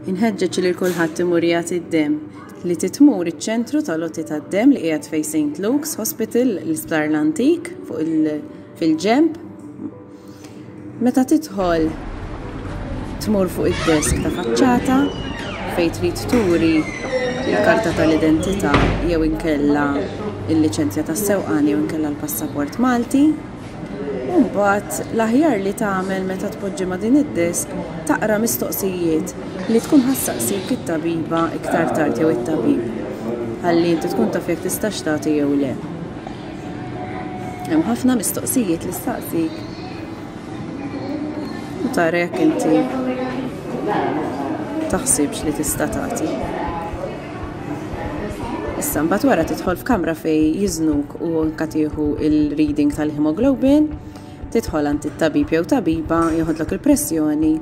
Inħeġġeġ lil kulħadd imur jagħti d-demm li titmur iċ-ċentru tal-għoti tad-demm li qiegħed fejn St. Luke's Hospital l-Isptar l-Antik fuq il fil-ġenb. Meta tidħol tmur fuq id-desk ta' faċċata fejn trid turi l-karta tal-identità jew inkella il-liċenzja tas-sewqan jew inkella l-passaport Malti. U mbagħad l-aħjar li tagħmel meta tpoġġi ma' din id-desk taqra mistoqsijiet li tkun ħa ssaqsik it-tabiba iktar tard jew it-tabib ħalli inti tkun taf jekk tistax tagħti jew le. Hemm ħafna mistoqsijiet li staqsik u tara jekk inti taħsibx li tista' tagħti. Issa mbagħad wara tidħol f'kamra fejn jiżnuk u anka tieħu il-reading tal-hemoglobin, tidħol għand it-tabib jew tabiba, joħodlok il-pressjoni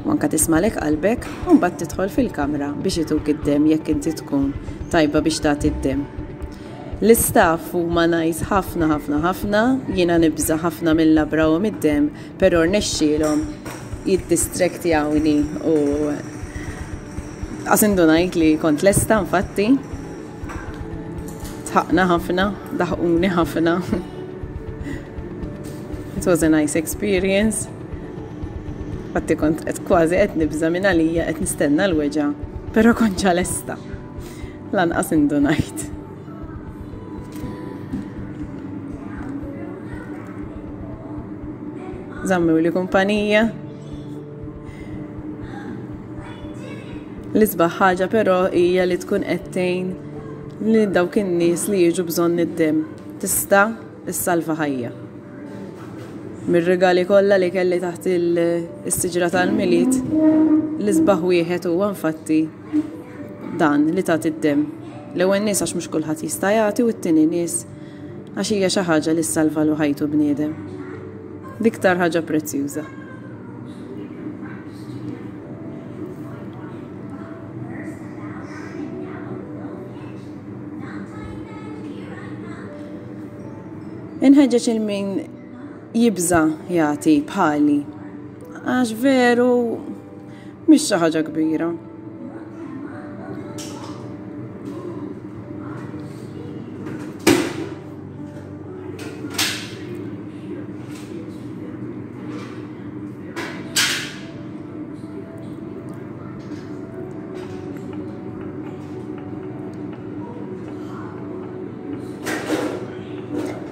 u anka tismalek qalbek u mbagħad tidħol fil-kamra biex ituk id-demm jekk inti tkun tajba biex tagħti d-demm. L-istaff huma nice ħafna ħafna ħafna, jiena nibża' ħafna mill-labra u mid-demm, però rnexxielhom jiddistraktjawni u qas indunajt li kont lesta infatti. Tħaqna ħafna, daħquni ħafna. It was a nice experience. Fatti kont qed kważi qed nibża' minn għalija qed nistenna l-weġgħa, però kont ġa lesta. Lanqas indunajt. Żammewli kumpanija. L-isbaħ ħaġa però hija li tkun qed tgħin lil dawk in-nies li jiġu bżonn id-demm. Tista' issalva ħajja. Mir-rigali kollha li kelli taħt is-siġra tal-Milied, l-isbaħ wieħed huwa infatti dan li tagħti d-demm. L-ewwel nies għax mhux kulħadd jista' jagħti u t-tieni nies għax hija xi ħaġa li ssalvalu ħajtu bniedem. L-iktar ħaġa prezzjuża. Inħeġġeġ il min jibża jagħti bħali. Għax veru mhix xi ħaġa kbira.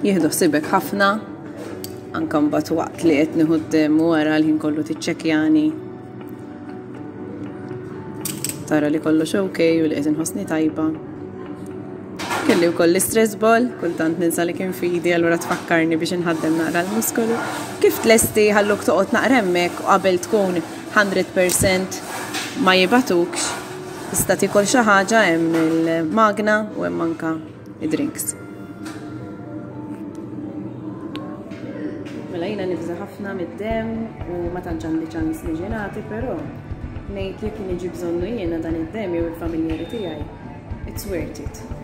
Jieħdu ħsibek ħafna, anke mbagħad waqt li qed nieħu d-demm u wara l-ħin kollu tiċċekkjani. Tara li kollox ok u li qed inħossni tajba. Kelli wkoll l-istress ball, kultant ninsa li kien fidi, allura tfakkarni biex inħaddem naqra l-muskolu. Kif tlesti ħalluk toqgħod naqra hemmhekk u qabel tkun 100% ma jibatukx, tista' tiekol xi ħaġa hemm il-magna u hemm anka id-drinks. Mela jiena nibża' ħafna mid-demm u ma tantx għandi ċans niġi nagħti, però ngħid jekk niġi bżonnu jiena dan id-demm jew il-familjari tiegħi, it's worth it.